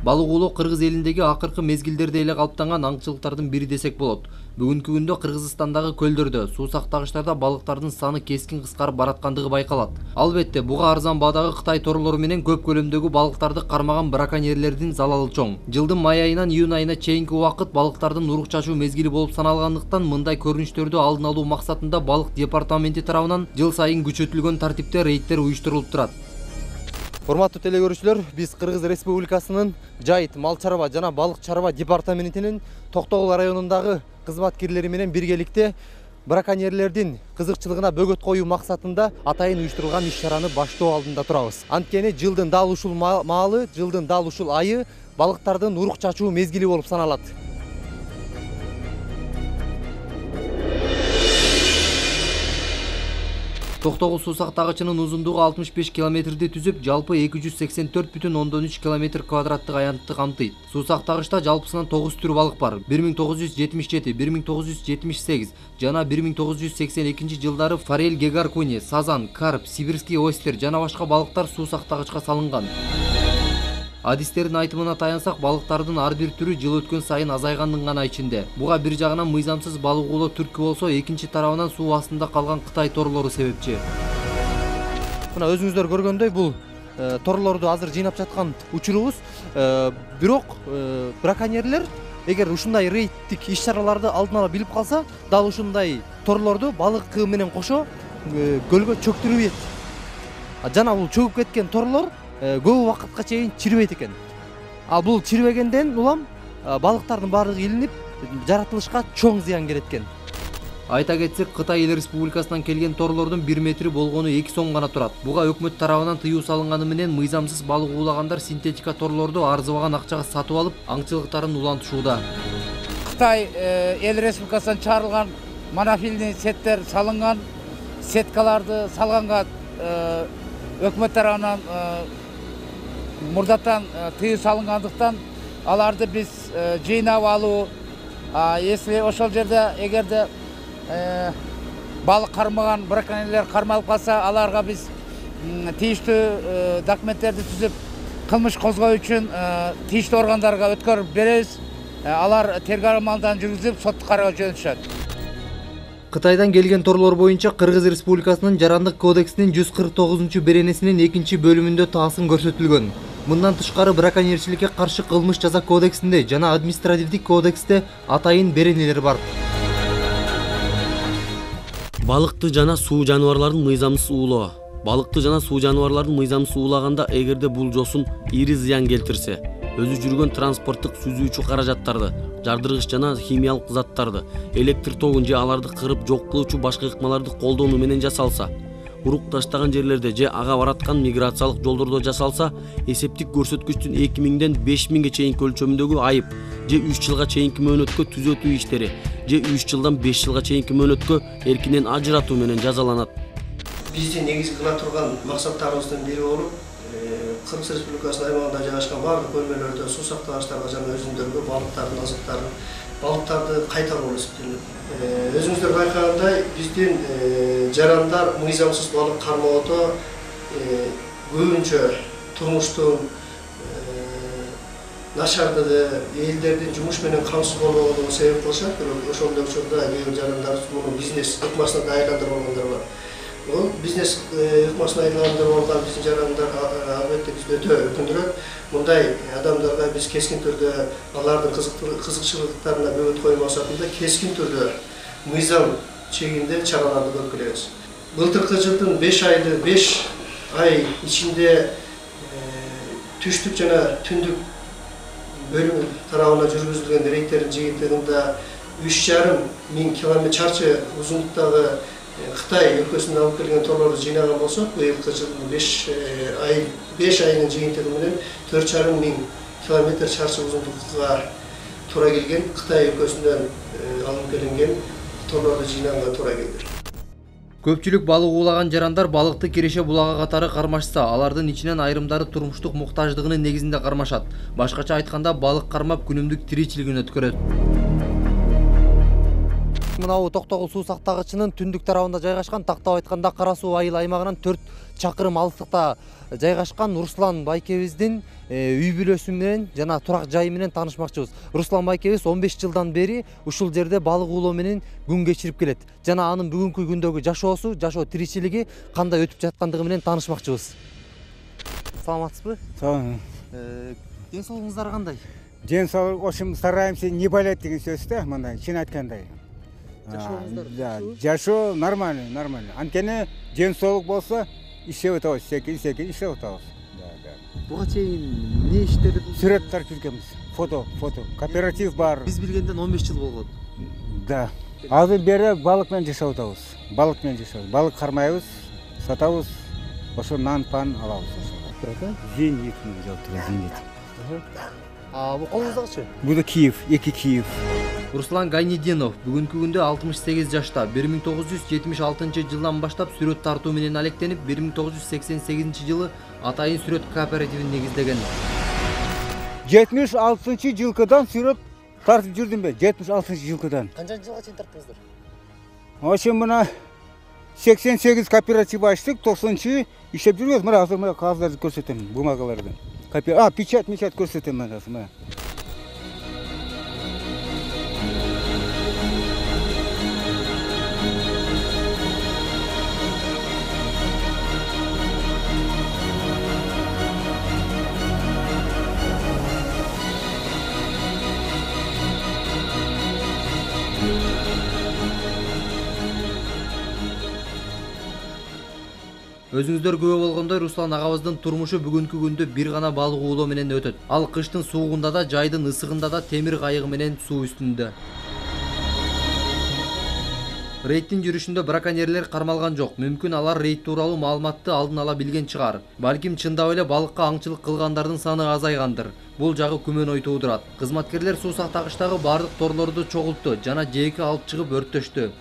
Балык оолоо Кыргыз элиндеги акыркы мезгилдерде эле калыптанган аңчылыктардын бири десек болот. Бүгүнкү күндө Кыргызстандагы көлдөрдө, суу сактагычтарда балыктардын саны кескин кыскарып бараткандыгы байкалат. Албетте, буга арзан баадагы Кытай торлору менен көп көлөмдөгү балыктарды кармаган браконьерлердин залалы чоң. Жылдын май айынан июнь айына чейинки убакыт балыктардын урук чачуу мезгили болуп саналгандыктан мындай көрүнүштөрдү алдын алуу максатында балык департаменти тарабынан жыл сайын күчөтүлгөн тартипте рейдтер уюштурулуп турат. Урматтуу теле көрүүчүлөр, биз Кыргыз Республикасынын Жайыт мал чарба жана балык чарба департаментинин Токтогул районундагы кызматкерлери менен биргеликте браконьерлердин кызыкчылыгына бөгөт коюу максатында атайын уюштурулган иш-чараны баштоо алдында турабыз. Анткени жылдын дал ушул маалы, жылдын дал ушул айы балыктардын урук чачуу мезгили болуп саналат. Токтогул суу сактагычынын узундугу 65 километрди түзүп, жалпы 284,3 км квадраттык аянтты камтыйт. Суу сактагычта жалпысынан 9 түр балык бар. 1977, 1978 жана 1982 жылдары форель, гегар куни, сазан, карп, сибирский ойстер жана башка балыктар суу сактагычка салынган. Адистердин айтымына таянсак, балыктардын ар бир түрү жыл өткөн сайын азайгандын гана ичинде. Буга бир жагынан мыйзамсыз балык оолоо түрткү болсо, экинчи тарабынан суу астында калган Кытай торлору себепчи. Мына өзүңүздөр көргөндөй, бул торлорду азыр жыйнап жаткан учурубуз. Бирок браконьерлер эгер ушундай рейдтик иш-чараларды алдын ала билип калса, дал ушундай торлорду балык менен кошо көлгө чөктүрүп ийет. Жана бул чөгүп кеткен торлор көп убакытка чейин чирибейт экен. Ал бул чирибегенден улам балыктардын баардыгы илинип, жаратылышка чоң зыян келет экен. Айта кетсек, Кытай эл республикасынан келген торлордун 1 метри болгону 2 сом гана турат. Буга өкмөт тарабынан тыюу салынганы менен мыйзамсыз балык уулагандар синтетика торлорду арзыбаган акчага сатып алып, аңчылыктарын улантышууда. Кытай эл республикасынан чыгарылган монофильный сеттер салынган, сеткаларды салганга өкмөт тарабынан мурдатан тыюу салынгандыктан аларды биз жыйнап алуу, если ошол жерде эгерде балык кармаган браконьерлер кармалып калса, аларга биз тийиштүү документтерди түзүп, кылмыш козгоо үчүн тийиштүү органдарга өткөрүп беребиз. Алар тергөө амалдан жүргүзүп, соттук кароого жөнөтүшөт. Кытайдан келген торлор боюнча Кыргыз Республикасынын Жарандык кодексинин 149-беренесинин 2-бөлүмүндө таасым көрсөтүлгөн. Мындан тышкары браконьерчиликке каршы кылмыш жаза кодексинде жана административдик кодексте атайын беренелер бар. Балыкты жана суу жаныбарларын мыйзамсыз уулоо. Балыкты жана суу жаныбарларын мыйзамсыз уулаганда, эгерде бул жосун ири зыян келтирсе, өзү жүргөн транспорттук сүзүүчү каражаттарды, жардыргыч жана химиялык заттарды, электр тогун же аларды кырып жок кылуучу башка ыкмаларды колдонуу менен жасалса, урук таштаган жерлерде же ага бараткан миграциялык жолдордо жасалса, эсептик көрсөткүчтүн 2000-ден 5000-ге чейинки өлчөмүндөгү айып же 3 жылга чейинки мөөнөткө түзөтүү иштери же 3 жылдан 5 жылга чейинки мөөнөткө эркинен ажыратуу менен жазаланат. Биздин негизги кыла турган максаттарыбыздын бири болуп, Кыргыз Республикасынын аймагында жайгашкан бардык бөлмөлөрдө суу сактагычтарга жана өзүндөргө балыктардын азыктарын, балыктарды кайтаруу эсептелет. Өзүңүздөр байкагандай, биздин жарандар мыйзамсыз балык кармоодо көбүнчө турмуштун начардыгы, элдердин жумуш менен камсыз болбогондугу себеп кылышат. Бирок ошондой учурда кээ бир жарандар муну бизнес ыкмасына да айландырып алгандар бар. Бул бизнес ыкмасына айландырып алган биздин жарандар албетте бизди өтө өкүндүрөт. Мындай адамдарга биз кескин түрдө алардын кызыкчылыктарына бөгөт коюу максатында кескин түрдө мыйзам чегинде чараларды көрүп келебиз. Былтыркы жылдын 5 ай ичинде түштүк жана түндүк бөлүм тарабынан жүргүзүлгөн рейдтердин жыйынтыгында 3,5 км чарчы узундуктагы Кытай өлкөсүнөн алып келген торлорду жыйнаган болсок, быйылкы жылдын 5 айынын жыйынтыгы менен 4,5 км чарчы узундукка туура келген Кытай өлкөсүнөн алып келинген торлорду жыйнаганга туура келди. Көпчүлүк балык уулаган жарандар балыкты Киреше булагы катары кармашса, алардын ичинен айрымдары турмуштук муктаждыгынын негизинде кармашат. Башкача айтканда, балык кармап күнүмдүк тиричилигин өткөрөт. мынабу Токтогул суу сактагычынын түндүк тарабында жайгашкан, тактап айтканда Кара суу айыл аймагынан 4 чакырым алыстыкта жайгашкан Руслан байкебиздин үй бүлөсү менен жана турак жайы менен таанышмакчыбыз. Руслан байкебиз 15 жылдан бери ушул жерде балык уулоо менен күн кечирип келет. Жана анын бүгүнкү күндөгү жашоосу, жашоо тиричилиги кандай өтүп жаткандыгы менен таанышмакчыбыз. Саламатсызбы? Салам. Ден соолугуңуздар кандай? Ден соолук, ошим стараемся не болеть деген сөз да, мындай чын айткандай. Жашооңуздар жашоо нормальный. Анткени ден соолук болсо иштеп атабыз, секин иштеп атабыз. Буга чейин эмне иштерди? Сүрөт тартып жүргөнбүз. Фото, кооператив бар. Биз билгенден 15 жыл болгон. Да. Азыр бери балык менен жашап атабыз. Балык кармайбыз, сатабыз. Ошо нан-пан алабыз ошо. Зенит менен жалтырат, зенит. Бу колуңуздагычы? Бу да Киев, 2 Киев. Руслан Гайнединов бүгүнкү күндө 68 жашта. 1976 жылдан баштап сүрөт тартуу менен алектенип, 1988 жылы Атайын сүрөт кооперативин негиздеген. 76 жылкыдан сүрөт тартып жүрдүм бе? 76 жылкыдан. Канча жылга чейин тарттыңыздар? Ошо мына 88 кооператив ачтык, 90 иштеп жүрбөз. Мына азыр мына кагыздарды көрсөтөм, бумагаларды. Печать көрсөтөм мен азыр мына. Өзүңүздөр күбө болгондой, Руслан агабыздын турмушу бүгүнкү күндө бир гана балык уулоо менен өтөт. Ал кыштын суугунда да, жайдын ысыгында да темир кайыгы менен суу үстүндө. Рейдтин жүрүшүндө браконьерлер кармалган жок. Мүмкүн алар рейд тууралуу маалыматты алдын ала билген чыгар. Балким чындап эле балыкка аңчылык кылгандардын саны азайгандыр. Бул жагы күмөн ой туудурат. Кызматкерлер суу сактагычтагы бардык торлорду чогултту жана жээкке алып чыгып өрттөштү.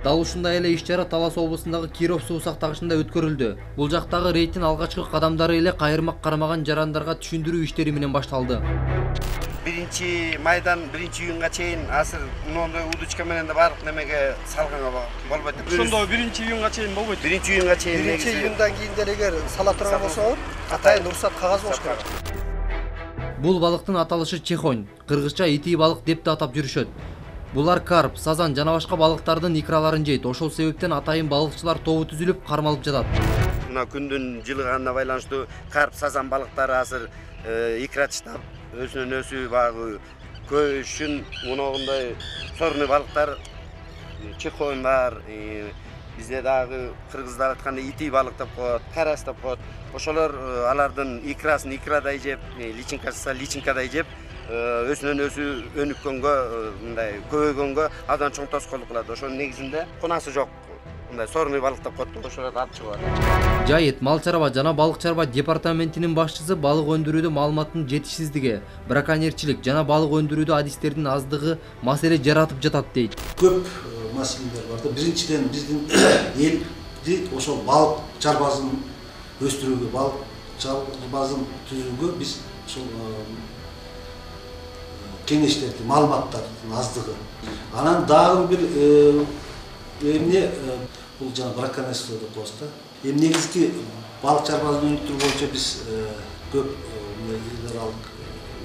Дал ушундай эле иш-чара Талас облусундагы Киров суу сактагычында өткөрүлдү. Бул жактагы рейдтин алгачкы кадамдары эле кайырмак кармаган жарандарга түшүндүрүү иштери менен башталды. 1-майдан 1-июнга чейин азыр мындай удочка менен да бардык немеге салганга болбойт. Ошондо 1-июнга чейин болбойт. 1-июнга чейин. 1-июндан кийин деле эгер сала турган болсо, атайын уруксат кагаз болуш керек. Бул балыктын аталышы чехонь, кыргызча ити балык деп да атап жүрүшөт. Булар карп, сазан жана башка балыктардын икраларын жейт. Ошол себептен атайын балыкчылар тобу түзүлүп кармалып жатат. Мына күндүн жылыганына байланыштуу карп, сазан балыктары азыр икра таштап, өзүнөн өзү багы көшүн, моногундай сорный балыктар, чехонь бар. Бизде дагы кыргыздар айтканда ити балык деп коет, карас деп коет. Ошолор алардын икрасын икрадай жеп, личинкасы личинкадай жеп, өзүнөн өзү өнүккөнгө, мындай көбөйгөнгө абдан чоң тоскоолдук кылат. Ошонун негизинде кунасы жок. Мындай сорный балык деп коет, ошолорду алып чыгат. Жайыт мал чарба жана балык чарба департаментинин башчысы балык өндүрүүдө маалыматтын жетишсиздиги, браконьерчилик жана балык өндүрүүдө адистердин аздыгы маселе жаратып жатат дейт. Көп маселелер бар да. Биринчиден биздин элди ошол балык чарбасын өстүрүүгө, балык чарбасын түзүүгө биз ошол кеңештерди, маалыматтардын аздыгы. Анан дагы бир эмне бул жана браконьерство деп коебуз да. Негизги балык чарбасын өнүктүрүү боюнча биз көп эл аралык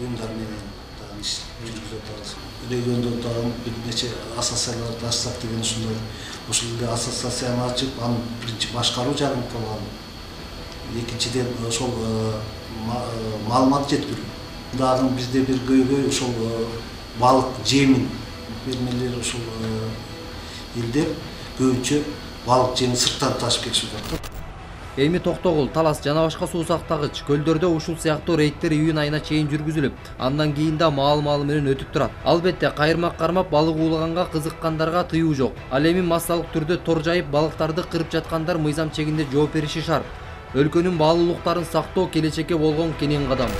уюмдар менен дагы иш жүргүзүп атабыз. Региондо дагы бир нече ассоциацияларды ачсак деген ушундай. Ошол эле ассоциацияны ачып, анын биринчи башкаруу жагын кылган. Экинчиден ошол маалымат жеткирүү. Дагы бизде бир көйгөй ошол балык жемин фермерлер ошол элдер көбүнчө балык жемин сырттан ташып келишип жатат. Эми Токтогул, Талас жана башка суу сактагыч көлдөрдө ушул сыяктуу рейдтер июнь айына чейин жүргүзүлүп, андан кийин да маал-маалы менен өтүп турат. Албетте кайырмак кармап балык уулаганга кызыккандарга тыюу жок. Ал эми массалык түрдө тор жайып балыктарды кырып жаткандар мыйзам чегинде жооп бериши шарт. Өлкөнүн баалуулуктарын сактоо келечекке болгон кенен кадам.